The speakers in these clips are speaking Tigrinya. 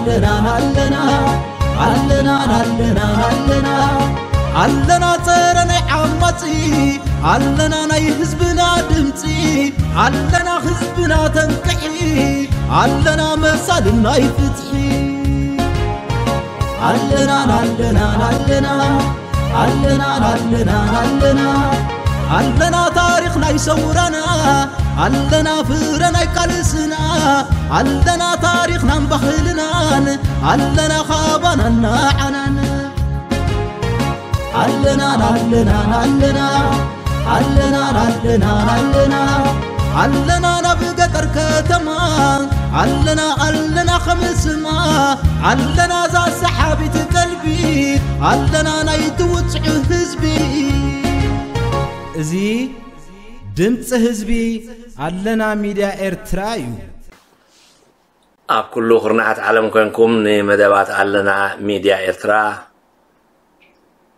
ኣለና ኣለና ኣለና ኣለና ኣለና ኣለና ጸረ ናይ ዓማጺ ኣለና ናይ ህዝብና ድምጺ ኣለና ህዝብና ተንቅሒ ኣለና መሳልን ናይ ፍትሒ ኣለና ኣለና ኣለና ኣለና ኣለና ኣለና ኣለና ታሪኽ ናይ ሰውራና ኣለና ፍረ ናይ ቃልስና ኣለና ታሪኽናን ባህልናን ኣለና ካባናን ንዓናን ኣለና ኣለና ኣለና ኣለና ኣለና ኣለና ኣለና ናብ ገጠር ከተማ ኣለና ኣለና ከምስማ ኣለና ዛ ሰሓቢት ቀልቢ ኣለና ናይ ትውፅዑ ህዝቢ እዚ ድምፂ ህዝቢ ኣለና ሚድያ ኤርትራ እዩ። ኣብ ኩሉ ኩርናዓት ዓለም ኮንኩም ንመደባት ኣለና ሚድያ ኤርትራ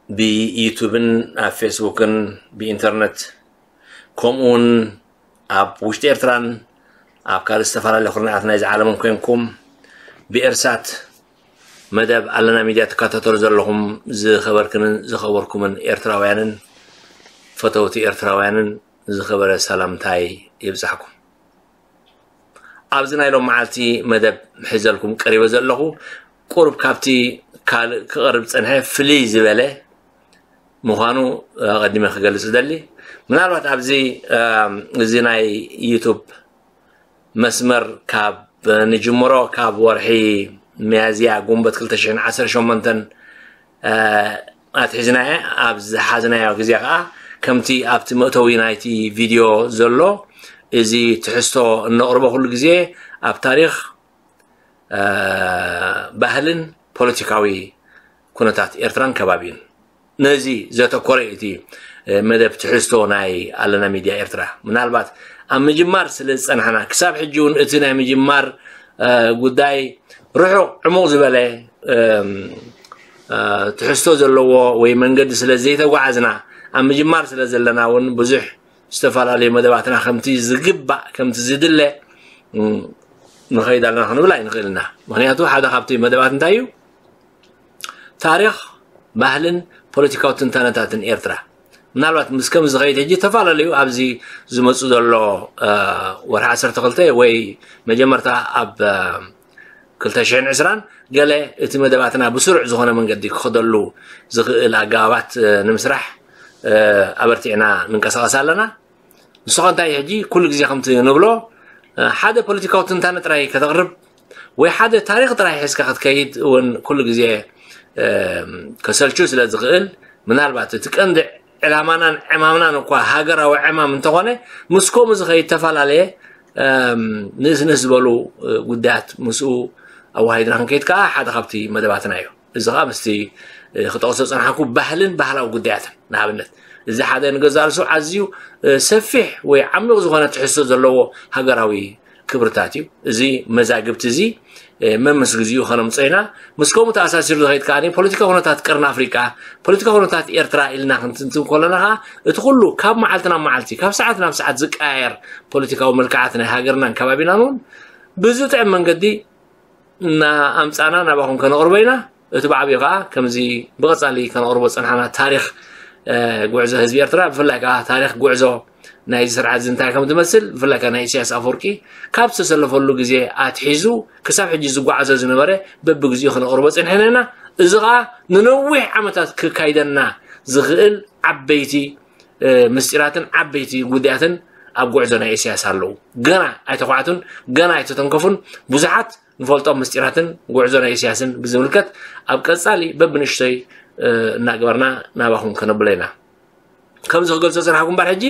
ብዩቱብን ኣብ ፌስቡክን ብኢንተርነት ከምኡውን ኣብ ውሽጢ ኤርትራን ኣብ ካልእ ዝተፈላለዩ ኩርናዓት ናይዚ ዓለምን ኮንኩም ብኤርሳት መደብ ኣለና ሚድያ ትከታተሉ ዘለኹም ዝኸበርክንን ዝኸበርኩምን ኤርትራውያንን ፈተውቲ ኤርትራውያንን ዝኸበረ ሰላምታይ ይብጻሕኩም። ኣብዚ ናይ ሎም መዓልቲ መደብ ሒዘልኩም ቀሪበ ዘለኹ ቁሩብ ካብቲ ካልእ ክቐርብ ጸንሐ ፍልይ ዝበለ ምዃኑ ኣቐዲመ ክገልጽ እደሊ። ምናልባት ኣብዚ እዚ ናይ ዩቱብ መስመር ካብ ንጅምሮ ካብ ወርሒ ሚያዝያ ጉንበት ክልተ ሽሕን ዓሰርተ ሸሞንተን ኣትሒዝናየ ኣብ ዝሓዝናዮ ግዜ ከዓ ከምቲ ኣብቲ መእተዊ ናይቲ ቪድዮ ዘሎ እዚ ትሕዝቶ እነቕርቦ ኩሉ ግዜ ኣብ ታሪኽ ባህልን ፖለቲካዊ ኩነታት ኤርትራን ከባቢን ነዚ ዘተኮረ እዩ እቲ መደብ ትሕዝቶ ናይ ኣለና ሚድያ ኤርትራ። ምናልባት ኣብ ምጅማር ስለ ዝጸናሕና ክሳብ ሕጂ እውን እቲ ናይ ምጅማር ጉዳይ ርሑቕ ዕሙቕ ዝበለ ትሕዝቶ ዘለዎ ወይ መንገዲ ስለ ዘይተጓዓዝና ኣብ ምጅማር ስለ ዘለና እውን ብዙሕ ዝተፈላለዩ መደባትና ከምቲ ዝግባእ ከምቲ ዝድለ ንኸይድ ኣለና ክንብል ኣይንኽእል ኢና። ምክንያቱ ሓደ ካብቲ መደባት እንታይ እዩ? ታሪኽ ባህልን ፖለቲካዊ ትንታነታትን ኤርትራ ምናልባት ምስ ከም ዝኸይድ ሕጂ ዝተፈላለዩ ኣብዚ ዝመፁ ዘሎ ወርሒ ዓሰርተ ክልተ ወይ መጀመርታ ኣብ ክልተ ሽሕን ዕስራን ገለ እቲ መደባትና ብስሩዕ ዝኾነ መንገዲ ክኸደሉ ዝኽእል ኣገባባት ንምስራሕ ኣበርቲዕና ንንቀሳቐስ ኣለና። ንስኻ እንታይ ሕጂ ኩሉ ግዜ ከምቲ ንብሎ ሓደ ፖለቲካዊ ትንታነ ጥራይ ከተቕርብ ወይ ሓደ ታሪኽ ጥራይ ሒዝካ ክትከይድ እውን ኩሉ ግዜ ከሰልቹ ስለ ዝኽእል ምናልባት እቲ ቀንዲ ዕላማናን ዕማምናን እኳ ሃገራዊ ዕማም እንተኾነ ምስ ከምኡ ዝኸይድ ተፈላለየ ንእስንእስ ዝበሉ ጉዳያት ምስኡ ኣዋሂድና ክንከይድ ከዓ ሓደ ካብቲ መደባትና እዩ። እዚ ከዓ ምስቲ ክጠቕሶ ዝፀናሕኩ ባህልን ባህላዊ ጉዳያትን ንኣብነት እዚ ሓደ ንገዛእ ርእሱ ኣዝዩ ሰፊሕ ወይ ዓሚቕ ዝኾነ ትሕዝቶ ዘለዎ ሃገራዊ ክብርታት እዩ። እዚ መዛግብቲ እዚ መምስ ግዜኡ ከነምፅኦ ኢና። ምስ ከምኡ ተኣሳሲሩ ዝኸይድ ከኣ ፖለቲካ ኩነታት ቀርኒ ኣፍሪቃ፣ ፖለቲካ ኩነታት ኤርትራ ኢልና ክንትንትን ከለና ከኣ እቲ ኩሉ ካብ መዓልቲ ናብ መዓልቲ ካብ ሰዓት ናብ ሰዓት ዝቀያየር ፖለቲካዊ መልክዓት ናይ ሃገርናን ከባቢናን እውን ብዝጥዕም መንገዲ እናኣምጻና ናባኹም ከነቕርቦ ኢና። እቲ ብዓብዩ ከኣ ከምዚ ብቐጻሊ ከነቕርቦ ዝጸናሕና ታሪኽ ጉዕዞ ህዝቢ ኤርትራ ብፍላይ ከኣ ታሪኽ ጉዕዞ ናይዚ ስርዓት እዚ እንታይ ከም ዝመስል ብፍላይ ከኣ ናይ ኢሳያስ ኣፈወርቂ ካብ ዝተሰለፈሉ ግዜ ኣትሒዙ ክሳብ ሕጂ ዝጓዓዞ ዝነበረ በብግዜኡ ከነቕርቦ ጸኒሕና ኢና። እዚ ከኣ ንነዊሕ ዓመታት ክካይደና ዝኽእል ዓበይቲ ምስጢራትን ዓበይቲ ጉዳያትን ኣብ ጉዕዞ ናይ ኢሳያስ ኣለዉ። ገና ኣይተኳዕቱን፣ ገና ኣይተተንከፉን። ብዙሓት ንፈልጦም ምስጢራትን ጉዕዞ ናይ ኢሳያስን ብዝምልከት ኣብ ቀጻሊ በብንእሽቶይ እናገበርና ናባኹም ከነብሎ ኢና። ከምዚ ክገልጾ ዝጸናሕኩ እምበር ሕጂ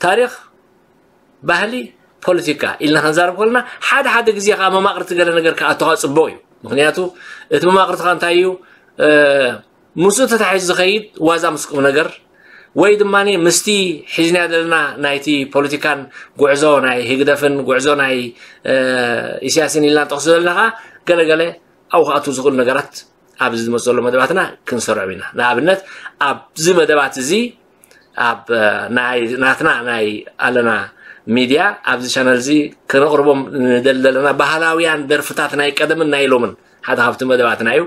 ታሪኽ፣ ባህሊ፣ ፖለቲካ ኢልና ክንዛረብ ከለና ሓደ ሓደ ግዜ ከዓ መማቕርቲ ገለ ነገር ክኣቶኻ ጽቡቕ እዩ። ምክንያቱ እቲ መማቕርትኻ እንታይ እዩ? ምስኡ ተታሒዙ ዝኸይድ ዋዛ ምስ ቁም ነገር ወይ ድማ ምስቲ ሒዝናዮ ዘለና ናይቲ ፖለቲካን ጉዕዞ ናይ ህግደፍን ጉዕዞ ናይ ኢሳያስን ኢልና ንጠቕሶ ዘለና ከዓ ገለገለ ኣብኡ ክኣትዉ ዝኽእሉ ነገራት ኣብዚ ዝመፅእ ዘሎ መደባትና ክንሰርዖም ኢና። ንኣብነት ኣብዚ መደባት እዚ ኣብ ናይ ናትና ናይ ኣለና ሚድያ ኣብዚ ቻነል እዚ ከነቕርቦም ንደሊ ዘለና ባህላውያን ደርፍታት ናይ ቀደምን ናይ ሎምን ሓደ ካብቲ መደባትና እዩ።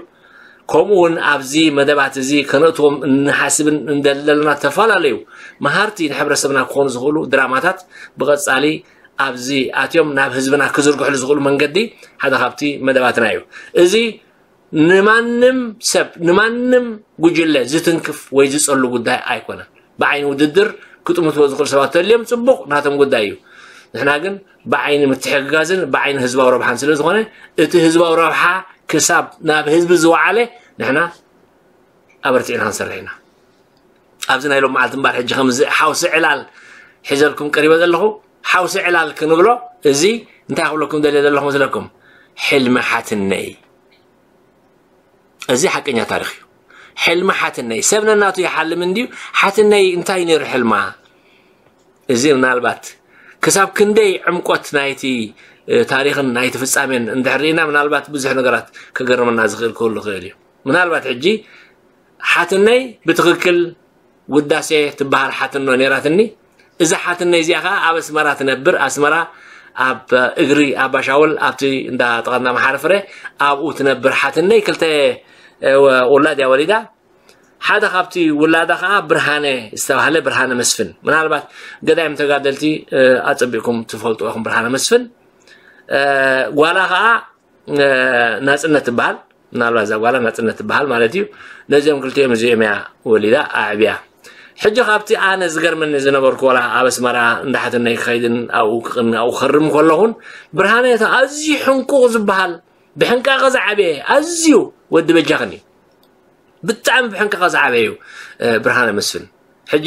ከምኡ እውን ኣብዚ መደባት እዚ ከነእትዎም እንሓስብን እንደሊ ዘለና ዝተፈላለዩ መሃርቲ ንሕብረተሰብና ክኾኑ ዝኽእሉ ድራማታት ብቐጻሊ ኣብዚ ኣትዮም ናብ ህዝብና ክዝርግሕሉ ዝኽእሉ መንገዲ ሓደ ካብቲ መደባትና እዩ። እዚ ንማንም ሰብ ንማንም ጉጅለ ዝትንክፍ ወይ ዝጸሉ ጉዳይ ኣይኮነን። ብዓይኒ ውድድር ክጥምትዎ ዝኽእሉ ሰባት ተልዮም ጽቡቕ ናቶም ጉዳይ እዩ። ንሕና ግን ብዓይኒ ምትሕግጋዝን ብዓይኒ ህዝባዊ ረብሓን ስለ ዝኾነ እቲ ህዝባዊ ረብሓ ክሳብ ናብ ህዝቢ ዝወዓለ ንሕና ኣበርቲዕና ክንሰርሕ ኢና። ኣብዚ ናይ ሎም መዓልቲ እምበር ሕጂ ከምዚ ሓውሲ ዕላል ሒዘልኩም ቀሪበ ዘለኹ ሓውሲ ዕላል ክንብሎ እዚ እንታይ ክብለኩም ደልየ ዘለኹ መስለኩም? ሕልሚ ሓትነይ። እዚ ሓቀኛ ታሪኽ እዩ። ሕልሚ ሓትነይ ሰብ ነናቱ ይሓልም እንድዩ። ሓትነይ እንታይ ነይሩ ሕልማ? እዚ ምናልባት ክሳብ ክንደይ ዕምቆት ናይቲ ታሪኽን ናይቲ ፍጻሜን እንድሕር ርኢና ምናልባት ብዙሕ ነገራት ከገርመና ዝኽእል ክህሉ ይኽእል እዩ። ምናልባት ሕጂ ሓትነይ ብትኽክል ውዳሴ ትበሃል ሓትኖ ነይራትኒ። እዛ ሓትነይ እዚኣ ከዓ ኣብ ኣስመራ ትነብር። ኣስመራ ኣብ እግሪ ኣባሻውል ኣብቲ እንዳ ጥቐና መሓሪ ፍረ ኣብኡ ትነብር ሓትነይ ክልተ ውላድ እያ ወሊዳ። ሓደ ካብቲ ውላዳ ከዓ ብርሃነ ዝተባህለ ብርሃነ መስፍን ምናልባት ገዳይም ተጋደልቲ ኣፀቢቕኩም ትፈልጡ ኢኹም። ብርሃነ መስፍን ጓላ ከዓ ናፅነት ትበሃል። ምናልባት እዛ ጓላ ናፅነት ትበሃል ማለት እዩ። ነዚኦም ክልቲኦም እዚኦም እያ ወሊዳ ኣዕብያ። ሕጂ ካብቲ ኣነ ዝገርመኒ ዝነበርኩ ዋላ ኣብ ኣስመራ እንዳ ሓትነይ ክኸይድን ኣብኡ ክቕኒ ኣብኡ ክኸርም ከለኹን ብርሃነ ኣዝዩ ሕንቁቕ ዝበሃል ብሕንቃቐ ዝዓበየ ኣዝዩ ወዲ በጃኽን እዩ። ብጣዕሚ ብሕንቃቐ ዝዓበየ እዩ ብርሃነ መስፍን። ሕጂ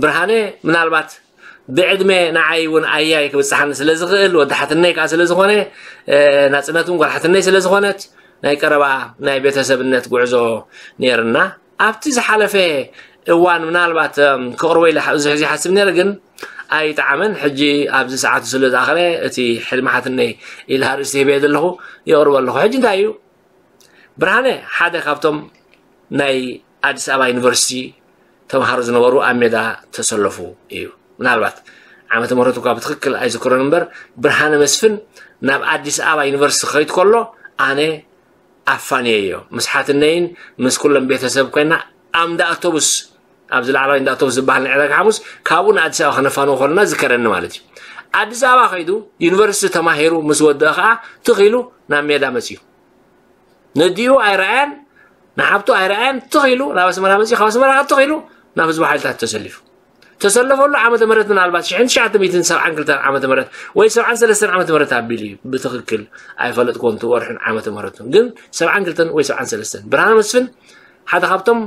ብርሃነ ምናልባት ብዕድመ ንዓይ እውን ኣያይ ክብፅሓኒ ስለ ዝኽእል ወዲ ሓትነይ ከዓ ስለ ዝኾነ ናፅነት እውን ጓል ሓትነይ ስለ ዝኾነት ናይ ቀረባ ናይ ቤተሰብነት ጉዕዞ ነይርና። ኣብቲ ዝሓለፈ እዋን ምናልባት ከቕርቦ ኢለ ብዙሕ ግዜ ሓስብ ነይረ ግን ኣይጠዓመን። ሕጂ ኣብዚ ሰዓቱ ስለ ዝኣኸለ እቲ ሕልሚ ሓትነይ ኢለ ኣርእስቲ ሂበ ዘለኹ የቕርቦ ኣለኹ። ሕጂ እንታይ እዩ ብርሃነ ሓደ ካብቶም ናይ ኣዲስ ኣበባ ዩኒቨርሲቲ ተምሃሮ ዝነበሩ ኣብ ሜዳ ተሰለፉ እዩ። ምናልባት ዓመተ ምህረቱ እኳ ብትኽክል ኣይዝክሮን እምበር ብርሃነ መስፍን ናብ ኣዲስ ኣበባ ዩኒቨርሲቲ ክኸይድ ከሎ ኣነ ኣፋንየዮ ምስ ሓትነይን ምስ ኩሎም ቤተሰብ ኮይና ኣምዳ ኣውቶቡስ ኣብዚ ላዕለዋይ እንዳ ኣውቶቡስ ዝበሃል ናይ ዕዳጋ ሓሙስ ካብኡ ንኣዲስ ኣበባ ከነፋንዎ ከለና ዝከረኒ ማለት እዩ። ኣዲስ ኣበባ ከይዱ ዩኒቨርሲቲ ተማሂሩ ምስ ወደአ ከዓ ትኽ ኢሉ ናብ ሜዳ መፅዩ። ነዲኡ ኣይረኣያን ንሓብቱ ኣይረኣያን ትኽ ኢሉ ናብ ኣስመራ መፅዩ ካብ ኣስመራ ከዓ ትኽ ኢሉ ናብ ህዝቢ ሓይልታት ተሰሊፉ። ተሰለፈሉ ዓመተ ምህረት ምናልባት ሽሕን ትሽዓተ ሚእትን ሰብዓን ክልተን ዓመተ ምህረት ወይ ሰብዓን ሰለስተን ዓመተ ምህረት ኣቢሉ እዩ ብትኽክል ኣይፈለጥኩዎን እቲ ወርሕን ዓመተ ምህረቱን ግን ሰብዓን ክልተን ወይ ሰብዓን ሰለስተን ብርሃነ መስፍን ሓደ ካብቶም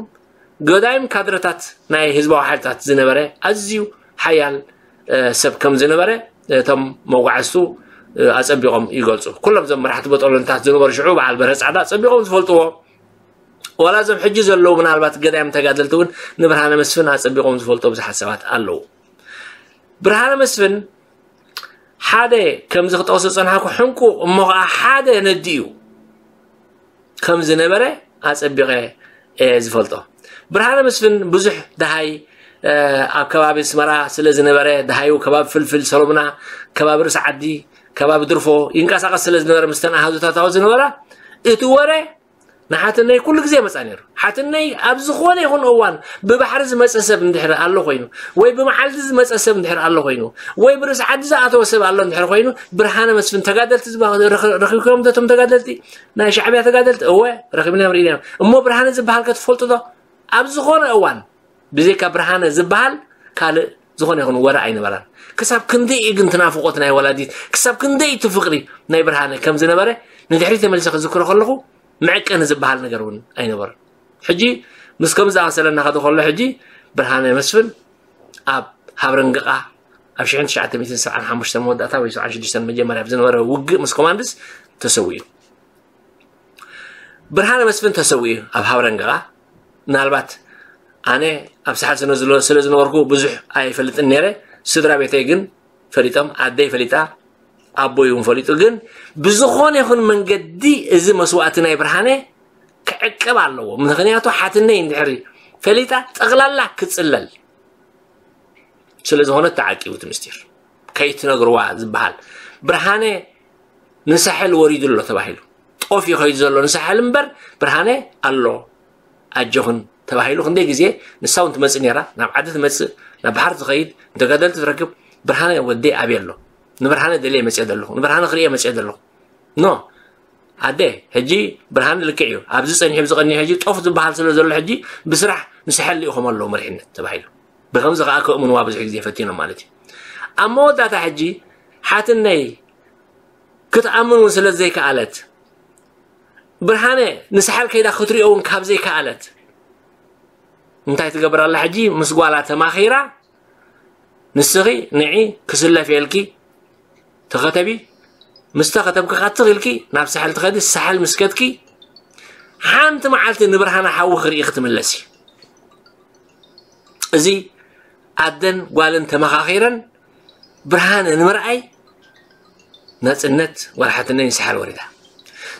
ገዳይም ካድረታት ናይ ህዝባዊ ሓይልታት ዝነበረ ኣዝዩ ሓያል ሰብ ከም ዝነበረ እቶም መጓዕዝቱ ኣጸቢቖም ይገልጹ። ኩሎም እዞም መራሕቲ በጠሎንታት ዝነበሩ ሽዑ በዓል በርሀ ጻዕዳ ኣጸቢቖም ዝፈልጥዎ ዋላ እዞም ሕጂ ዘለዉ ምናልባት ገዳይም ተጋደልቲ እውን ንብርሃነ መስፍን ኣጸቢቖም ዝፈልጦ ብዙሓት ሰባት ኣለዉ። ብርሃነ መስፍን ሓደ ከምዚ ክጠቕሶ ዝጸናሕኩ ሕንቁቕ እሞ ኸዓ ሓደ ነዲ እዩ ከም ዝነበረ ኣጸቢቐ እየ ዝፈልጦ። ብርሃነ መስፍን ብዙሕ ደሃይ ኣብ ከባቢ ኣስመራ ስለ ዝነበረ ደሃዩ ከባቢ ፍልፍል ሰሎምና ከባቢ ርእሲ ዓዲ ከባቢ ድርፎ ይንቀሳቐስ ስለ ዝነበረ ምስተን ኣሃዙታት ዝነበራ እቲ ወረ ንሓትነይ ኩሉ ግዜ መጻ ነይሩ። ሓትነይ ኣብ ዝኾነ ይኹን እዋን ብባሕሪ ዝመጸ ሰብ እንድሕር ኣሎ ኮይኑ ወይ ብመዓልቲ ዝመጸ ሰብ እንድሕር ኣሎ ኮይኑ ወይ ብርእሲ ዓዲ ዝኣተወ ሰብ ኣሎ እንድሕር ኮይኑ ብርሃነ መስፍን ተጋደልቲ ረኺብኩም ዶ እቶም ተጋደልቲ ናይ ሻዕብያ ተጋደልቲ እወ ረኺብናዮም ርኢናዮም እሞ ብርሃነ ዝበሃል ከ ትፈልጡ ዶ ኣብ ዝኾነ እዋን ብዘይካ ብርሃነ ዝበሃል ካልእ ዝኾነ ይኹን ወረ ኣይነበራን። ክሳብ ክንደይ እዩ ግን ትናፍቆት ናይ ወላዲት ክሳብ ክንደይ እቲ ፍቅሪ ናይ ብርሃነ ከም ዝነበረ ንድሕሪት ተመሊሰ ክዝክሮ ከለኹ መዐቀኒ ዝበሃል ነገር እውን ኣይነበረን። ሕጂ ምስ ከም ዝኣመሰለ እናኸደ ከሎ ሕጂ ብርሃነ መስፍን ኣብ ሃብረንግቓ ኣብ ሽሕን ትሽዓተ ሚእትን ሰብዓን ሓሙሽተን መወዳእታ ወይ ሰብዓን ሽዱሽተን መጀመርያ ብዝነበረ ውግእ ምስ ኮማንድስ ተሰዊኡ። ብርሃነ መስፍን ተሰዊኡ ኣብ ሃብረንግቓ ምናልባት ኣነ ኣብ ሰሓል ስነ ስለ ዝነበርኩ ብዙሕ ኣይፈልጥን ነይረ። ስድራ ቤተይ ግን ፈሊጦም፣ ኣደይ ፈሊጣ፣ ኣቦይ እውን ፈሊጡ። ግን ብዝኾነ ይኹን መንገዲ እዚ መስዋእቲ ናይ ብርሃነ ክዕቀብ ኣለዎ። ምኽንያቱ ሓትነይ እንድሕሪ ፈሊጣ ጠቕላላ ክጽለል ስለ ዝኾነ ተዓቂቡ እቲ ምስጢር። ከይትነግርዋ ዝበሃል። ብርሃነ ንሳሕል ወሪዱ ኣሎ ተባሂሉ። ጦፍ እዩ ከይዱ ዘሎ ንሳሕል እምበር ብርሃነ ኣሎ። ኣጆኽን ተባሂሉ ክንደይ ግዜ ንሳ እውን ትመጽእ ነይራ። ናብ ዓዲ ትመጽእ፣ ናብ ባሕሪ ትኸይድ፣ ንተጋደልቲ ትረክብ። ብርሃነ ወደይ ኣበይ ኣሎ? ንብርሃነ ደልየ መጽየ ዘለኹ። ንብርሃነ ክርእየ መጽየ ዘለኹ። ኖ። ኣደ፣ ሕጂ ብርሃነ ልክዕ እዩ። ኣብዚ ጸኒሑ፣ ኣብዚ ቀኒሑ፣ ሕጂ ጦፍ ዝበሃል ስለ ዘሎ ሕጂ ብስራሕ ንሳሕል ልኢኾም ኣለዉ መሪሕነት ተባሂሉ። ብኸምዚ ከኣ ከእምንዋ ብዙሕ ግዜ ፈቲኖም ማለት እዩ። ኣብ መወዳእታ ሕጂ ሓትነይ ክትኣምን እውን ስለ ዘይከኣለት፣ ብርሃነ ንሳሕል ከይዳ ክትሪኦ እውን ካብ ዘይከኣለት፣ እንታይ ትገብር ኣላ ሕጂ? ምስ ጓላ ተማኺራ፣ ንስኺ ንዒ ክስለፍ የልኪ ተኸተቢ፣ ምስ ተኸተብኪ ካትኽ ኢልኪ ናብ ሳሕል ትኸዲ፣ ሳሕል ምስ ከድኪ፣ ሓንቲ መዓልቲ ንብርሃነ ሓዊ ክርኢ ክትምለሲ። እዚ ኣደን ጓልን ተመኻኺረን ብርሃነ ንምርኣይ ናጽነት ጓል ሓትነይ ንሳሕል ወሪዳ።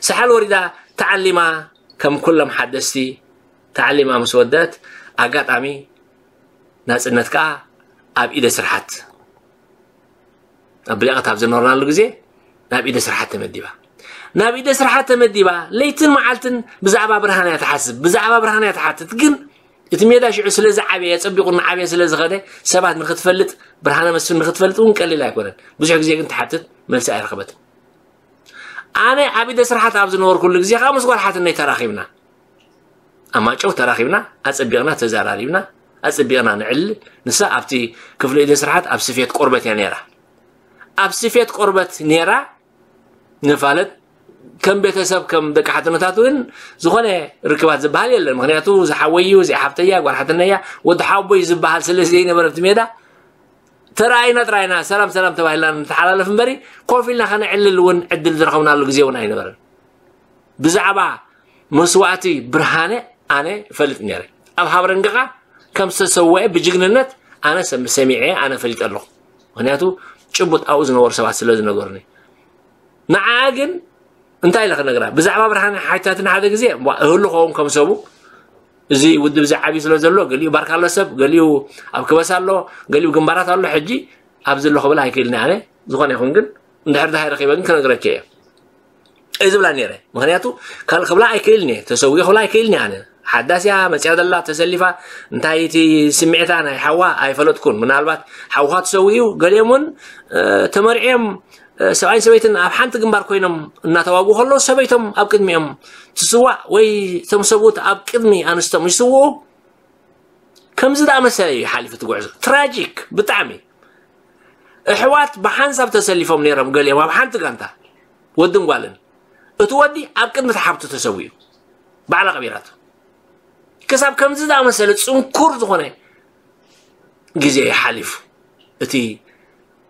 ሳሕል ወሪዳ ተዓሊማ ከም ኩሎም ሓደስቲ ተዓሊማ ምስ ወደት ኣጋጣሚ ናጽነት ከኣ ኣብ ኢደ ስርሓት ኣብ ብሊቐት ኣብ ዝነበርናሉ ግዜ ናብ ኢደ ስርሓት ተመዲባ። ናብ ኢደ ስርሓት ተመዲባ ለይትን መዓልትን ብዛዕባ ብርሃን እያ ትሓስብ፣ ብዛዕባ ብርሃን እያ ትሓትት። ግን እቲ ሜዳ ሽዑ ስለ ዝዓበየ፣ ጸቢቑ እናዓበየ ስለ ዝኸደ፣ ሰባት ንኽትፈልጥ፣ ብርሃነ መስፍን ንኽትፈልጥ እውን ቀሊል ኣይኮነን። ብዙሕ ግዜ ግን ትሓትት፣ መልሲ ኣይረኸበትን። ኣነ ኣብ ኢደ ስርሓት ኣብ ዝነበርኩሉ ግዜ ከዓ ምስ ጓል ሓትነይ ተራኺብና። ኣብ ማጨው ተራኺብና፣ ኣጸቢቕና ተዘራሪብና፣ ኣጸቢቕና ንዕልል። ንሳ ኣብቲ ክፍሊ ኢደ ስርሓት ኣብ ስፌት ቆርበት እያ ነይራ። ኣብ ስፌት ቆርበት ነይራ፣ ንፋለጥ። ከም ቤተሰብ፣ ከም ደቂ ሓትነታት እውን ዝኾነ ርክባት ዝበሃል የለን። ምኽንያቱ፣ እዚ ሓወይ እዩ፣ እዚኣ ሓፍተይ እያ፣ ጓል ሓትነይ እያ፣ ወዲ ሓቦይ ዝበሃል ስለ ዘይነበረ ኣብቲ ሜዳ፣ ተረኣይና ጥራይና ሰላም ሰላም ተባሂልና ንተሓላለፍ እምበሪ፣ ኮፍ ኢልና ከነዕልል እውን ዕድል ዝረኸብናሉ ግዜ እውን ኣይነበረን። ብዛዕባ መስዋእቲ ብርሃነ ኣነ እፈልጥ ነይረ። ኣብ ሃብረንግኻ ከም ዝተሰወአ ብጅግንነት ኣነ ሰም-፣ ሰሚዐ፣ ኣነ ፈሊጠ ኣለኹ። ምኽንያቱ ጭቡጥ ኣብኡ ዝነበሩ ሰባት ስለ ዝነገሩኒ። ንዓኣ ግን እንታይ ኢለ ክነግራ? ብዛዕባ ብርሃነ ሓቲታትኒ ሓደ ግዜ፣ እዋ፣ እህሉ ኸውን ከም ሰቡ፣ እዚ ውድብ እዚ ዓብዩ ስለ ዘሎ፣ ገሊኡ ባርካ ኣሎ ሰብ፣ ገሊኡ ኣብ ክበሳ ኣሎ፣ ገሊኡ ግንባራት ኣሎ። ሕጂ ኣብዚ ኣሎ ክብል ኣይክእልን ኣነ። ዝኾነ ይኹን ግን፣ እንድሕር ደሃይ ረኺበ ግን ክነግረኪ እየ። እዩ ዝብላ ነይረ። ምኽንያቱ ካልእ ክብላ ኣይክእልን እየ፣ ተሰዊኡ ክብላ ኣይክእልን እየ ኣነ። ሓዳስ እያ መፅያ ዘላ ተሰሊፋ፣ እንታይ እቲ ስምዒታ ናይ ሓዋ ኣይፈለጥኩን። ምናልባት ሓውኻ ተሰዊኡ፣ ገሊኦም እውን፣ እ፣ ተመርዕዮም፣ እ፣ ሰብኣይን ሰበይትን ኣብ ሓንቲ ግንባር ኮይኖም እናተዋግኡ ከለዉ ሰበይቶም ኣብ ቅድሚኦም ትስዋእ ወይ እቶም ሰብኡት ኣብ ቅድሚ ኣንስቶም ይስውኡ። ከምዚ ዝኣመሰለ እዩ ሓሊፉ እቲ ጉዕዞ። ትራጂክ ብጣዕሚ። ኣሕዋት ብሓንሳብ ተሰሊፎም ነይሮም፣ ገሊኦም ኣብ ሓንቲ ጋንታ፣ ወድን ጓልን። እቲ ወዲ ኣብ ቅድሚ እቲ ሓብቱ ተሰዊኡ፣ ባዕላ ቀቢራቶ። ክሳብ ከምዚ ዝኣመሰለ ጽንኩር ዝኾነ ግዜ እዩ ሓሊፉ እቲ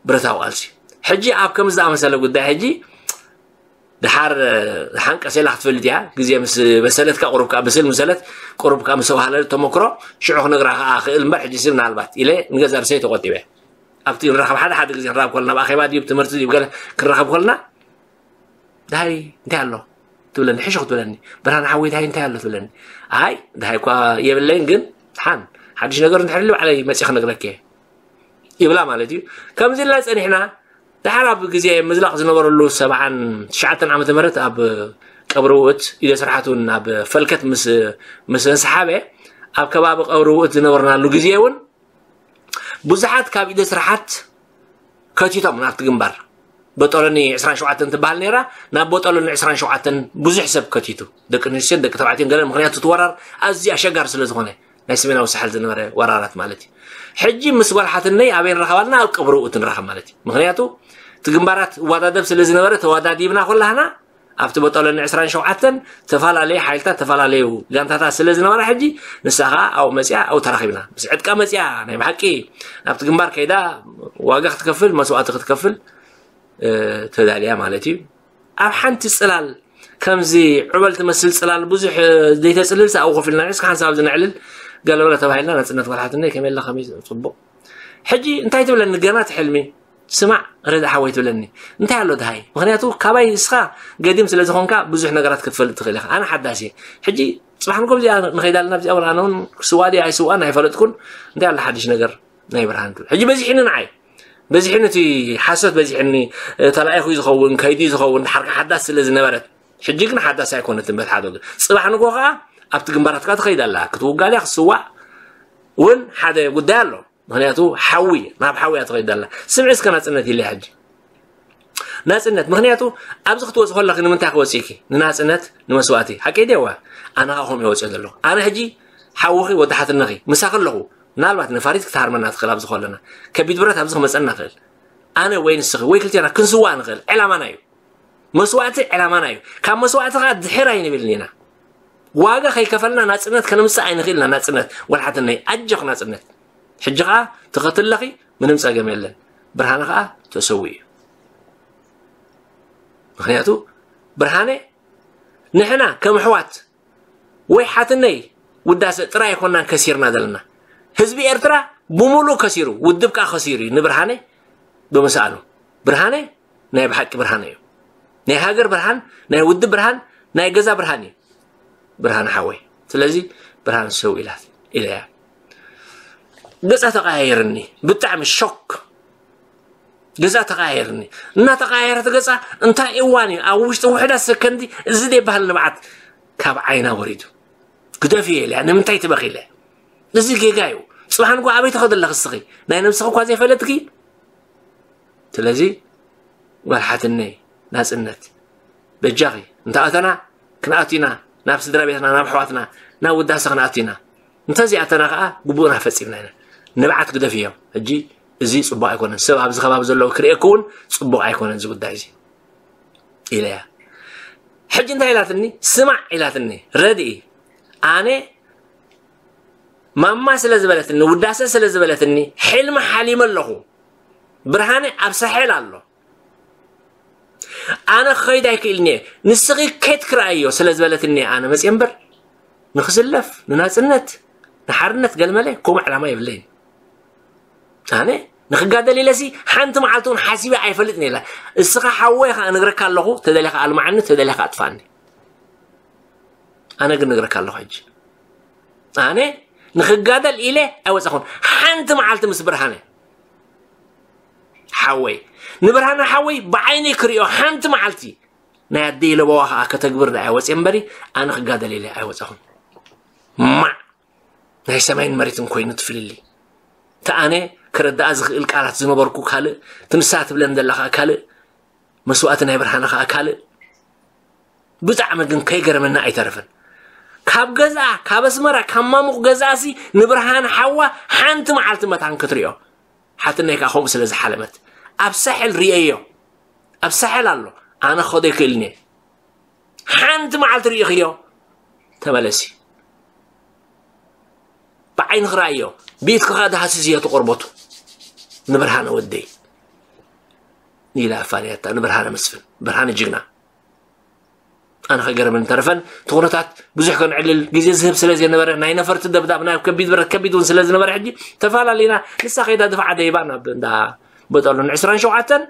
ብረታዊ ቃልሲ። ሕጂ ኣብ ከምዚ ዝኣመሰለ ጉዳይ ሕጂ ድሓር፣ እ፣ ሓንቀስ ኢላ ክትፈልጥ እያ። ግዜ ምስ በሰለት ከኣ ቁሩብ ከኣ ብስል ምሰለት፣ ቁሩብ ከኣ ምስ ተባህለ ተመክሮ ሽዑ ክነግራ ከኣ ክእል እምበር፣ ሕጂ ሲ ምናልባት ኢለ ንገዛ ርእሰይ ተቆጢበ። ኣብቲ ንራኸብ ሓደ ሓደ ግዜ ንራኸብ ከለና፣ ኣብ ኣኼባ ድዩ፣ ትምህርቲ ድዩ፣ ገለ ክንራኸብ ከለና፣ "ደሃይ እንታይ ኣሎ?" ትብለኒ፣ ሕሹኽ ትብለኒ። "ብርሃን ሓወይ፣ ደሃይ እንታይ ኣሎ?" ትብለኒ። "ኣይ፣ ደሃይ እኳ የብለይን፣ ግን ሓን ሓድሽ ነገር እንድሕር ኢሉ ባዕለይ መጺእ ክነግረኪ እየ" ይብላ ማለት እዩ። ከምዚ ኢልና ጸኒሕና፣ ድሓር ኣብ ግዜ ምዝላቕ ዝነበረሉ ሰብዓን ትሽዓተን ዓመተ ምህረት ኣብ ቀብሪ ውእት ኢደ ስርሓት እውን ናብ ፈልከት ምስ፣ ምስ እንሰሓበ፣ ኣብ ከባቢ ቀብሪ ውእት ዝነበርናሉ ግዜ እውን ብዙሓት ካብ ኢደ ስርሓት ከቲቶም ናብቲ ግንባር። በጦሎኒ ዕስራን ሸውዓተን ትበሃል ነይራ፣ ናብ በጦሎኒ ዕስራን ሸውዓተን ብዙሕ ሰብ ከቲቱ። ደቂ ኣንስትዮን ደቂ ተባዕትዮን ገለ፣ ምኽንያቱ እቲ ወራር ኣዝዩ ኣሸጋሪ ስለ ዝኾነ፣ ናይ ሰሜናዊ ሳሕል ዝነበረ ወራራት ማለት እዩ። ሕጂ ምስ ጓል ሓትነይ ኣበይ ንራኸብ ኣለና? ኣብ ቀብሪ ውእት ንራኸብ ማለት እዩ። ምኽንያቱ እቲ ግንባራት እወዳደብ ስለ ዝነበረ ተወዳዲብና ኮላህና ኣብቲ በጦሎኒ ዕስራን ሸውዓተን ተፈላለየ ሓይልታት፣ ተፈላለዩ ጋንታታት ስለ ዝነበራ ሕጂ ንሳ ኸኣ ኣብኡ መጺኣ ኣብኡ ተራኺብና። ምስ ዕጥቃ መጺኣ ናይ ብሓቂ ናብቲ ግንባር ከይዳ ዋጋ ክትከፍል፣ መስዋእቲ ክትከፍል፣ እ፣ ተዳልያ ማለት እዩ። ኣብ ሓንቲ ጽላል ከምዚ ዑበል ትመስል ጽላል ብዙሕ፣ እ፣ ዘይተጽልል ሰብኣዊ ኮፍ ኢልና ንዕስካ ሓንሳብ ኣብዚ ነዕልል ገለበለ ተባሂልና ናጽነት ጓል ሓትነይ ከመይ ኣላ ከመይ ጽቡቕ። ሕጂ እንታይ ትብለኒ ገና እቲ ሕልሚ? ስማዕ ረዳ ሓወይ ትብለኒ። እንታይ ኣሎ ደሃይ? ምኽንያቱ ካባይ ንስኻ ገዲም ስለ ዝኾንካ ብዙሕ ነገራት ክትፈልጥ ትኽእል ኢኻ። ኣነ ሓዳስ እየ። ሕጂ ጽባሕ ንጎ እዚኣ ንኸይድ ኣለና፣ ኣብዚኣ እውን ኣነ እውን ክስዋእ ድየ ኣይስዋእን ኣይፈለጥኩን። እንታይ ኣሎ ሓድሽ ነገር? ናይ ብርሃን ትብል። ሕጂ በዚሕኒ ንዓይ፣ በዚሕኒ እቲ ሓሶት በዚሕኒ፣ ተላኢኹ ዝኸውን ከይዱ ዝኸውን ሓርካ ሓዳስ ስለ ዝነበረት፣ ሕጂ ግን ሓዳስ ኣይኮነትን። በት ሓደ ወገን ጽባሕ ንጎ ከዓ ኣብቲ ግንባራትካ ትኸይድ ኣላ። ክትውጋእ ክትስዋእ እውን ሓደ ጉዳይ ኣሎ። ምክንያቱ ሓዊ ናብ ሓዊ እያ ትኸይድ ኣላ። ስምዒ እስከ ናጽነት ኢለ ሕጂ ናጽነት። ምክንያቱ ኣብዚ ክትወፅ ከለኺ ንምንታይ ክወፅእኪ? ንናጽነት፣ ንመስዋእቲ። ሓቂ ዲዋ? ኣነ ከዓ ከምኡ ይወፅኦ ዘለኹ። ኣነ ሕጂ ሓውኺ ወዲ ሓትነኺ ምሳኺ ኣለኹ። ምናልባት ነፋሪት ክትሃርመና ትኽእል ኣብዚ ከለና። ከቢድ ብረት ኣብዚ ክመፀና ይኽእል። ኣነ ወይ ንስኺ ወይ ክልቴና ክንስዋእ ንኽእል። ዕላማና እዩ። መስዋእቲ ዕላማና እዩ። ካብ መስዋእቲ ከዓ ድሕር ኣይንብልን ኢና። ዋጋ ከይከፈልና ናጽነት ከነምጽእ ኣይንኽእልና። ናጽነት ጓል ሓትነይ ኣጆኽ ናጽነት። ሕጂ ከዓ ትኸትለኺ ምንም ጸገም የለን። ብርሃነ ከዓ ተሰዊኡ እዩ። ምክንያቱ ብርሃነ ንሕና ከም ኣሕዋት ወይ ሓትነይ ውዳሰ ጥራይ ኣይኮናን ከሲርና ዘለና። ህዝቢ ኤርትራ ብምሉእ ከሲሩ፣ ውድብ ከዓ ከሲሩ እዩ ንብርሃነ ብምስኣኑ። ብርሃነ ናይ ብሓቂ ብርሃነ እዩ። ናይ ሃገር ብርሃን፣ ናይ ውድብ ብርሃን፣ ናይ ገዛ ብርሃን እዩ። ብርሃን ሓወይ። ስለዚ ብርሃን ሰው ኢላት ኢለያ። ገጻ ተቐያየርኒ። ብጣዕሚ ሾክ። ገጻ ተቐያየርኒ። እናተቐያየረት ገጻ እንታይ እዋን እዩ? ኣብ ውሽጢ ውሕዳት ሰከንዲ እዚ ደይ ባህል ንብዓት ካብ ዓይና ወሪዱ። ግደፍዮ ኢለያ። ንምንታይ ትበኺ ኢለ? እዚ ጌጋ እዩ። ጽባሕ ንጎ ኣበይ ትኸዲ ኣለኺ እስኺ? ናይ ነብስኺ እኳ ዘይፈለጥኪ? ስለዚ ጓል ሓትነይ ናጽነት በጃኺ እንተ ኣተና ክንኣቱ ኢና ናብ ስድራ ቤትና ናብ ኣሕዋትና ናብ ውዳሰ ክንኣቱ ኢና። እንተዘይኣተና ከኣ ግቡእና ፈጺምና ኢና። ንብዓት ግደፍዮ። ሕጂ እዚ ጽቡቕ ኣይኮነን። ሰብ ኣብዚ ከባቢ ዘለዉ ክርእየኪ እውን ጽቡቕ ኣይኮነን እዚ ጉዳይ እዚ ኢለያ። ሕጂ እንታይ ኢላትኒ? ስማዕ ኢላትኒ። ረድኢ ኣነ ማማ ስለ ዝበለትኒ ውዳሰ ስለ ዝበለትኒ ሕልሚ ሓሊመ ኣለኹ። ብርሃነ ኣብ ሳሕል ኣሎ። ኣነ ክኸይድ ኣይክእልን እየ። ንስኺ ከይድ ክረኣዮ ስለ ዝበለትኒ ኣነ መፅየ እምበር ንክስለፍ ንናፅነት ንሓርነት ገልመለ ከምኡ ዕላማ የብለይን። ኣነ ንክጋደል ኢለሲ ሓንቲ መዓልቲ እውን ሓሲበ ኣይፈልጥን ኢላ። እስኻ ሓወይ ከዓ እነግረካ ኣለኹ፣ ተደሊኻ ኣልማዓኒ፣ ተደሊኻ ኣጥፋኒ። ኣነ ግን እነግረካ ኣለኹ ሕጂ ኣነ ንክጋደል ኢለ ኣይወፀኹን ሓንቲ መዓልቲ ምስ ብርሃነ ሓወይ ንብርሃነ ሓወይ ብዓይነይ ክሪኦ ሓንቲ መዓልቲ ናይ ኣደይ ለበዋ ከዓ ከተግብር ዳ ኣይወፅየ እምበሪ ኣነ ክጋደል ኢለ ኣይወፀኹን። ማዕ ናይ ሰማይን መሬትን ኮይኑ ትፍልሊ። እቲ ኣነ ክረዳኣ ዝኽእል ቃላት ዝነበርኩ ካልእ፣ እቲ ንሳ ትብለን ዘላ ከዓ ካልእ፣ መስዋእቲ ናይ ብርሃነ ከዓ ካልእ። ብጣዕሚ ግን ከይገረመና ኣይተረፈን። ካብ ገዝኣ ካብ ኣስመራ ካብ ማሙቕ ገዝኣሲ ንብርሃን ሓዋ ሓንቲ መዓልቲ መታን ክትሪኦ ሓትነይ ከዓ ከምኡ ስለ ዝሓለመት ኣብ ሳሕል ርእየዮ። ኣብ ሳሕል ኣሎ ኣነ ክኸዶ ይክእልን እየ። ሓንቲ መዓልቲ ርእኽዮ ተመለሲ ብዓይኒ ክረኣዮ ብኢድኪ ከዓ ዳሃስስዮ ተቆርበቱ ንብርሃነ ወደይ ኢላ ኣፋንያታ ንብርሃነ መስፍን ብርሃነ ጅግና። ኣነ ከገረመን ተረፈን እቲ ኩነታት ብዙሕ ከንዕልል ግዜ ዝህብ ስለ ዘይነበረ ናይ ነፈርቲ ደብዳብ ናይ ከቢድ ብረት ከቢድ እውን ስለ ዝነበረ ሕጂ ተፈላለና። ንሳ ከይዳ ድፋዓ ደይባ ናብ እንዳ በጠሉን ዕስራን ሸውዓተን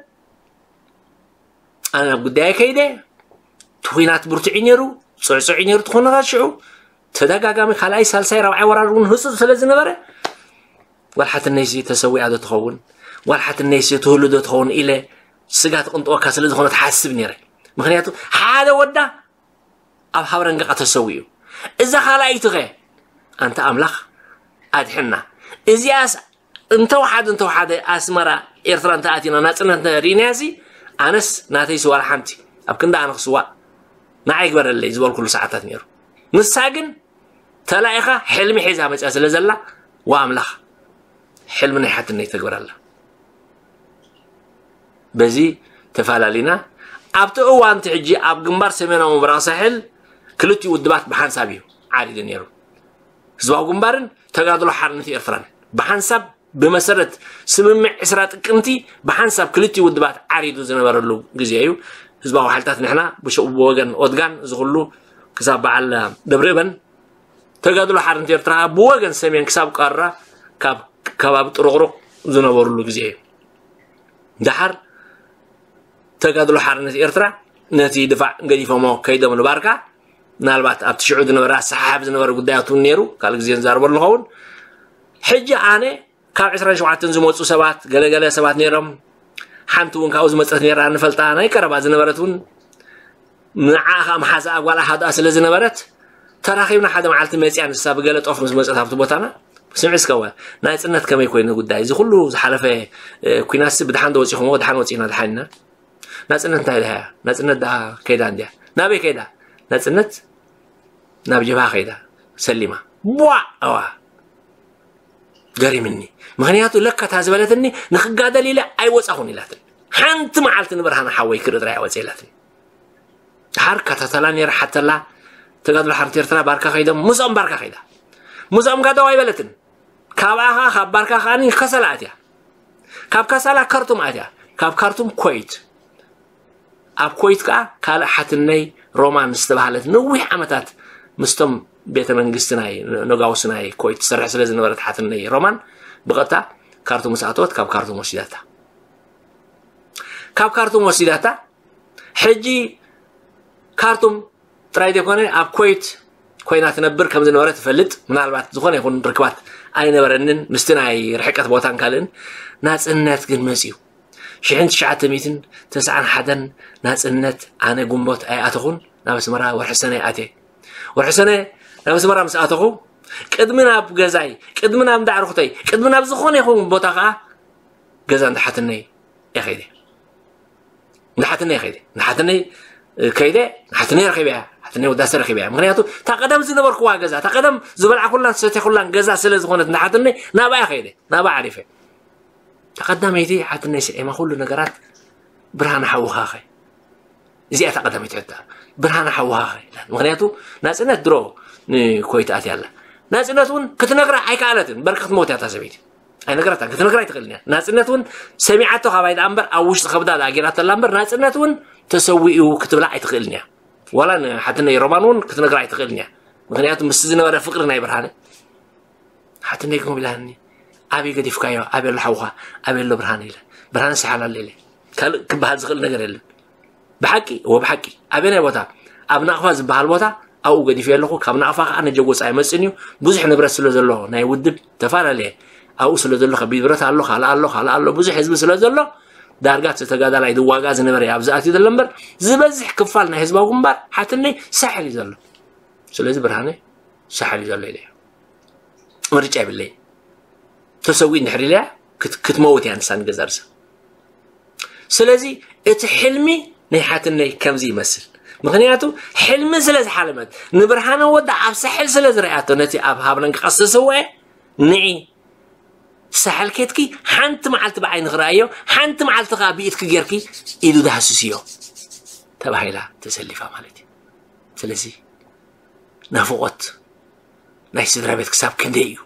ኣነ ናብ ጉዳየ ከይደ። እቲ ኩናት ብርቱዕ ነይሩ ፅዕፅዕ ነይሩ እቲ ኩነታት ሽዑ ተደጋጋሚ ካልኣይ ሳልሳይ ራብዓይ ወራር እውን ህፁፅ ስለ ዝነበረ ጓል ሓትነይሲ ተሰዊኣ ዶ ትኸውን ጓል ሓትነይሲ ትህሉ ዶ ትኸውን ኢለ ስጋ ትቕንጥወካ ስለ ዝኾነ ትሓስብ ነይረ። ምክንያቱ ሓደ ወዳ ኣብ ሃብረንገቃ ተሰዊኡ እዛ ካልኣይትኸ ኣንተ ኣምላኽ ኣድሕና እዚኣስ እንተወሓደ እንተወሓደ ኣስመራ ኤርትራ እንተኣቲና ናፅነት ርኢናያ ሲ ኣነስ ናተይ ስዋላ ሓንቲ ኣብ ክንዲ ኣነ ክስዋእ ንዓይ ግበረለይ ዝበልኩሉ ሰዓታት ነይሩ። ንሳ ግን ተላኢኻ ሕልሚ ሒዛ መፅያ ስለ ዘላ ዋ ኣምላኽ ሕልሚ ናይ ሓትነይ ተግብረላ። በዚ ተፈላለና። ኣብቲ እዋንቲ ሕጂ ኣብ ግንባር ሰሜናዊ ምብራቕ ሳሕል ክልቲኡ ውድባት ብሓንሳብ እዩ ዓሪዱ ነይሩ። ህዝባዊ ግንባርን ተጋድሎ ሓርነት ኤርትራን ብሓንሳብ ብመሰረት ስምምዕ ዕስራ ጥቅምቲ ብሓንሳብ ክልቲኡ ውድባት ዓሪዱ ዝነበረሉ ግዜ እዩ። ህዝባዊ ሓይልታት ንሕና ብወገን ኦድጋን ዝኽሉ ክሳብ በዓል ደብረ እበን ተጋድሎ ሓርነት ኤርትራ ብወገን ሰሜን ክሳብ ቃራ ካብ ከባቢ ጥሩቕሩቕ ዝነበሩሉ ግዜ እዩ። ደሓር ተጋድሎ ሓርነት ኤርትራ ነቲ ድፋዕ ገዲፎሞ ከይዶም ንባርካ ምናልባት ኣብቲ ሽዑ ዝነበረ ኣሰሓሓብ ዝነበረ ጉዳያት እውን ነይሩ ካልእ ግዜ ንዛርበሉ ኸውን። ሕጂ ኣነ ካብ ዕስራን ሸውዓተን ዝመፁ ሰባት፣ ገለገለ ሰባት ነይሮም። ሓንቲ እውን ካብኡ ዝመፀት ነይራ፣ ንፈልጣ፣ ናይ ቀረባ ዝነበረት እውን፣ ንዓ ከዓ መሓዛኣ ጓል ኣሓዳኣ ስለ ዝነበረት፣ ተራኺብና ሓደ መዓልቲ መፅያ፣ ንሳ ብገለ ጦፍ ምስ መፀት ኣብቲ ቦታና። ስምዒ እስከ፣ እወ፣ ናፅነት ከመይ ኮይኑ ጉዳይ፣ እዚ ኩሉ ዝሓለፈ ኩናትሲ ብድሓን ዶ ወፂኹምዎ? ድሓን ወፂና፣ ድሓን ኢና። ናፅነት እንታይ ደሃያ? ናፅነት ደኣ ከይዳ እንድያ። ናበይ ከይዳ? ናፅነት ናብ ጀብሃ ከይዳ፣ ሰሊማ። ቧ! ኣዋ፣ ገሪምኒ። ምኽንያቱ ለካ እታ ዝበለትኒ፣ ንክጋደል ኢለ ኣይወፃኹን ኢላትኒ። ሓንቲ መዓልቲ ንብርሃነ ሓወይ ክርኢ ጥራይ ኣወፀ ኢላትኒ። ድሓር ከታተላ ነይረ፣ ሓተላ፣ ተጋድሎ ሓርነት ኤርትራ ባርካ ከይዶም፣ ምስኦም ባርካ ከይዳ። ምስኦም ጋደው ኣይበለትን። ካብኣ ኸዓ፣ ካብ ባርካ ከዓኒ ከሰላ ኣትያ። ካብ ከሰላ ካርቱም ኣትያ። ካብ ካርቱም ኮይት። ኣብ ኮይት ከኣ ካልእ ሓትነይ ሮማን ዝተባህለት ነዊሕ ዓመታት ምስቶም ቤተ መንግስቲ ናይ ነጋውስ ናይ ኮይት ትሰርሕ ስለ ዝነበረት ሓትነይ ሮማን ብቐጥታ ካርቱም ምስ ኣተወት ካብ ካርቱም ወሲዳታ። ካብ ካርቱም ወሲዳታ። ሕጂ ካርቱም ጥራይ ዘይኮነ ኣብ ኮይት ኮይና ትነብር ከም ዝነበረ ትፈልጥ። ምናልባት ዝኾነ ይኹን ርክባት ኣይነበረንን ምስቲ ናይ ርሕቀት ቦታን ካልእን። ናጽነት ግን መጽዩ። ሽሕን ትሽዓተ ሚእትን ተስዓን ሓደን ናጽነት ኣነ ግንቦት ኣይኣተኹን፣ ናብ ኣስመራ ወርሒ ሰነ ኣትየ። ወርሒ ሰነ ናብ ኣስመራ ምስ ኣተኹ፣ ቅድሚ ናብ ገዛይ፣ ቅድሚ ናብ እንዳ ኣዕሩኽተይ፣ ቅድሚ ናብ ዝኾነ ይኹን ቦታ ከኣ ገዛ እንዳ ሓትነይ እየ ከይደ። እንዳ ሓትነይ እየ ከይደ። እንዳ ሓትነይ፣ እ፣ ከይደ፣ ሓትነይ ረኺበያ። ሓትነይ ወዳሰ ረኺበያ። ምኽንያቱ እታ ቀደም ዝነበርኩዋ ገዛ፣ እታ ቀደም ዝበልዓኩላን ዝሰተኹላን ገዛ ስለ ዝኾነት እንዳ ሓትነይ ናብኣ እየ ከይደ። ናብኣ ዓሪፈ። እታ ቀዳመይቲ ሓትነይ ስዒማ ኩሉ ነገራት ብርሃነ ሓውኻ ኸ? እዚኣ እታ ቀዳመይቲ ሕቶ። ብርሃነ ሓውኻ ኸ? ምኽንያቱ ናጽነት ድሮ ንኮይት ኣትያ ኣላ። ናጽነት እውን ክትነግራ ኣይከኣለትን። በርቂ ክትመውት እያ እታ ሰበይቲ። ኣይነገራታን፣ ክትነግራ ኣይትኽእልን እያ። ናጽነት እውን ሰሚዓቶ ካባይ ደኣ እምበር፣ ኣብ ውሽጢ ከብዳ ደኣ ጌራቶ ኣላ እምበር፣ ናጽነት እውን ተሰዊኡ ክትብላ ኣይትኽእልን እያ። ዋላ ንሓትነይ ሮማን እውን ክትነግራ ኣይትኽእልን እያ። ምኽንያቱ ምስቲ ዝነበረ ፍቕሪ ናይ ብርሃነ፣ ሓትነይ ከምኡ ኢላኒ፣ "ኣበይ ገዲፍካዮ? ኣበይ ኣሎ ሓውኻ? ኣበይ ኣሎ ብርሃነ?" ኢለ። ብርሃነ ሰሓል ኣሎ ኢለ። ካልእ ክበሃል ዝኽእል ነገር የለን። ብሓቂ፣ እወ ብሓቂ። ኣበየናይ ቦታ? ኣብ ናቕፋ ዝበሃል ቦታ ኣብኡ ገዲፈዮ ኣለኹ። ካብ ናቕፋ ከኣ ነጀጎጻ ኣይመጽእን እዩ። ብዙሕ ንብረት ስለ ዘሎ ናይ ውድብ ተፈላለየ ኣብኡ ስለ ዘሎ ከቢድ ብረት ኣሎ፣ ካልእ ኣሎ፣ ካልእ ኣሎ። ብዙሕ ህዝቢ ስለ ዘሎ ዳርጋ እቲ ተጋዳላይ ዝዋጋእ ዝነበረ እዩ ኣብዚ ኣትዩ ዘሎ እምበር ዝበዝሕ ክፋል ናይ ህዝባዊ ግንባር ሓትነይ ሳሕል እዩ ዘሎ። ስለዚ ብርሃነ ሳሕል እዩ ዘሎ ኢለ እየ። ምርጫ የብለይን። ተሰዊእ እንድሕር ኢለያ ክት-፣ ክትመውት እያ ንሳ ንገዛ ርእሳ። ስለዚ እቲ ሕልሚ ናይ ሓትነይ ከምዚ ይመስል። ምኽንያቱ ሕልሚ ስለ ዝሓለመት፣ ንብርሃነ ወዳ ኣብ ሳሕል ስለ ዝረኣያቶ፣ ነቲ ኣብ ሃብነን ክቐስስዎ እየ፣ ንዒ ሳሕል ኬድኪ ሓንቲ መዓልቲ ብዓይኒ ክረኣዮ፣ ሓንቲ መዓልቲ ከኣ ብኢድኪ ጌርኪ ኢዱ ዳህስስዮ ተባሂላ ተሰሊፋ ማለት እዩ። ስለዚ ናፍቖት ናይ ስድራ ቤት ክሳብ ክንደይ እዩ?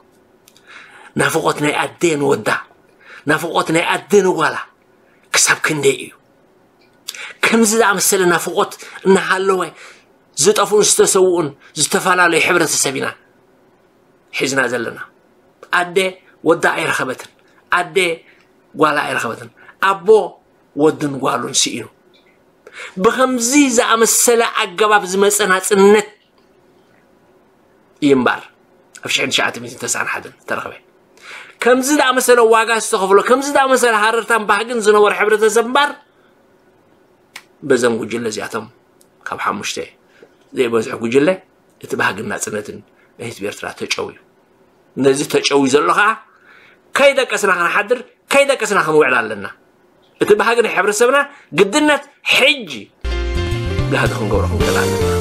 ናፍቖት ናይ ኣደ ንወዳ፣ ናፍቖት ናይ ኣደ ንጓላ ክሳብ ክንደይ እዩ? ከምዚ ዝኣመሰለ ናፍቖት እናሃለወ ዝጠፍኡን ዝተሰውኡን ዝተፈላለዩ ሕብረተሰብ ኢና ሒዝና ዘለና። ኣደ ወዳ ኣይረኸበትን፣ ኣደ ጓላ ኣይረኸበትን፣ ኣቦ ወዱን ጓሉን ስኢኑ። ብኸምዚ ዝኣመሰለ ኣገባብ ዝመጸ ናጽነት እዩ እምበር ኣብ ሽሕን ትሽዓተ ሚእትን ተስዓን ሓደን ዝተረኸበ። ከምዚ ዝኣመሰለ ዋጋ ዝተኸፍሎ፣ ከምዚ ዝኣመሰለ ሃረርታን ባህግን ዝነበሮ ሕብረተሰብ እምበር በዘም ጉጅለ እዚኣቶም ካብ ሓሙሽተ ዘይበዝሑ ጉጅለ እቲ ባህግን ናጽነትን ናይ ህዝቢ ኤርትራ ተጨውዩ። ነዚ ተጨውዩ ዘሎ ኸኣ ከይደቀስና ክንሓድር፣ ከይደቀስና ክንውዕል ኣለና። እቲ ባህጊ ናይ ሕብረተሰብና ግድነት ሕጂ ጋህዲ ክንገብሮ ክንክእል ኣለና።